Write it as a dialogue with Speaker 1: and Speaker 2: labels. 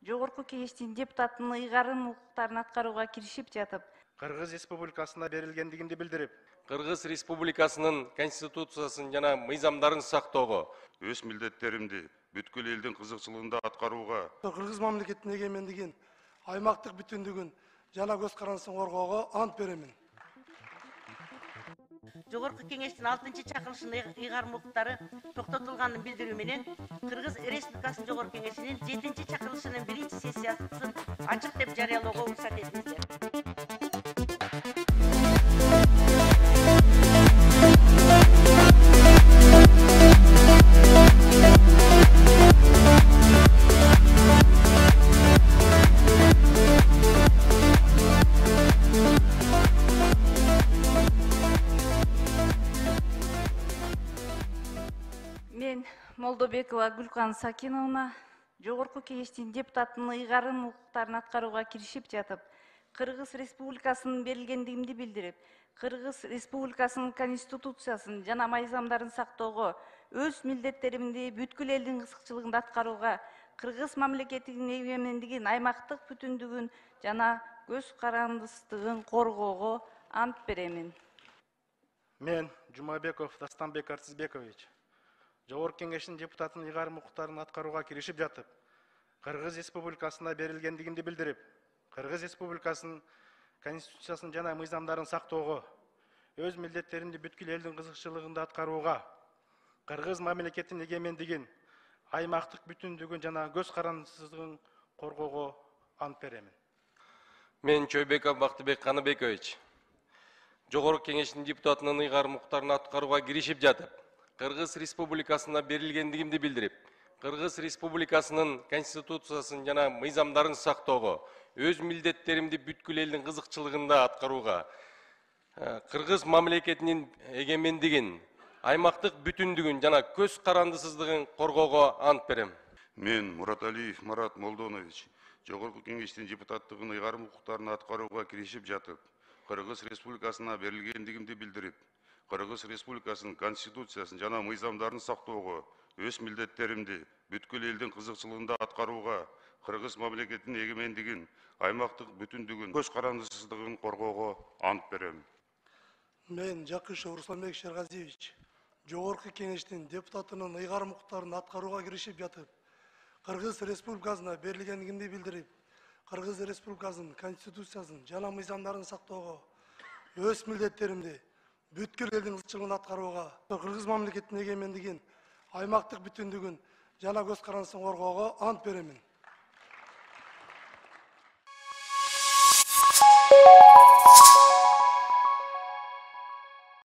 Speaker 1: Жогорку Кеңештин депутатынын ыйгарым укуктарын аткарууга киришип жатып,
Speaker 2: Кыргыз Республикасына берилгендигинди билдирип,
Speaker 3: Кыргыз Республикасынын Конституциясын жана мыйзамдарын сактоого,
Speaker 4: өз милдеттеримди бүткүл элдин кызыкчылыгында аткарууга,
Speaker 5: Кыргыз мамлекетинин эгемендигин, аймактык бүтүндүгүн жана көз карандысын коргоого ант беремин.
Speaker 6: Жогорку Кеңештин 6-чакырылышынын ыйгарым укуктары токтотулганын билдирүү менен Кыргыз Республикасынын Жогорку Кеңешинин 7-чакырылышынын 1-сессиясын ачык деп жарыялоого уруксат этиңиздер.
Speaker 1: мен Молдобекова Гүлкан Сакиновна Жогорку Кеңештин депутатынын ыйгарым укуктарын аткарууга киришип жатып, Кыргыз Республикасынын берилгендигимди билдирип, Кыргыз Республикасынын Конституциясын жана мыйзамдарын сактоого, өз милдеттеримди бүткүл элдин кызыкчылыгында аткарууга, Кыргыз мамлекетинин эгемендигин, аймактык бүтүндүгүн жана көз карандысыздыгын коргоого ант беремин.
Speaker 2: мен Жумабеков Дастанбек Артизбекович Жогорку Кеңештин депутатынын ыйгарым укуктарын аткарууга киришип жатып, Кыргыз Республикасына берилгендигинди билдирип, Кыргыз Республикасынын Конституциясын жана мыйзамдарын сактоого, өз милдеттеримди бүткүл элдин кызыкчылыгында аткарууга, Кыргыз мамлекетинин эгемендигин, аймактык бүтүндүгүн жана көз карандысыздыгын коргоого ант беремин.
Speaker 3: мен Чойбеков Бактыбек Каныбекович Жогорку Кеңештин депутатынын ыйгарым укуктарын аткарууга киришип жатып, Кыргыз Республикасына берилгендигимди билдирип, Кыргыз Республикасынын Конституциясын жана мыйзамдарын сактоого, өз милдеттеримди бүткүл элдин кызыкчылыгында аткарууга, Кыргыз мамлекетинин эгемендигин, аймактык бүтүндүгүн жана көз карандысыздыгын коргоого ант берем.
Speaker 4: мен Мураталиев Марат Молдонович Жогорку Кеңештин депутаттыгын ыйгарым укуктарын аткарууга киришип жатып, Кыргыз Республикасына берилгендигимди билдирип, Кыргыз Республикасынын Конституциясын жана мыйзамдарын сактоого, өз милдеттеримди бүткүл элдин кызыкчылыгында аткарууга, Кыргыз мамлекетинин эгемендигин, аймактык бүтүндүгүн, көз карандысыздыгын коргоого ант берем.
Speaker 5: Мен Жакышев Русланбек Шергазиевич Жогорку Кеңештин депутатынын ыйгарым укуктарын аткарууга киришип жатып, Кыргыз Республикасына берилгендигимди билдирип, Кыргыз Республикасынын Конституциясын жана мыйзамдарын сактоого, өз милдеттеримди бүткүл элдин кызыкчылыгында аткарууга, Кыргыз мамлекетинин эгемендигин, аймактык бүтүндүгүн жана көз карандысын коргоого ант беремин.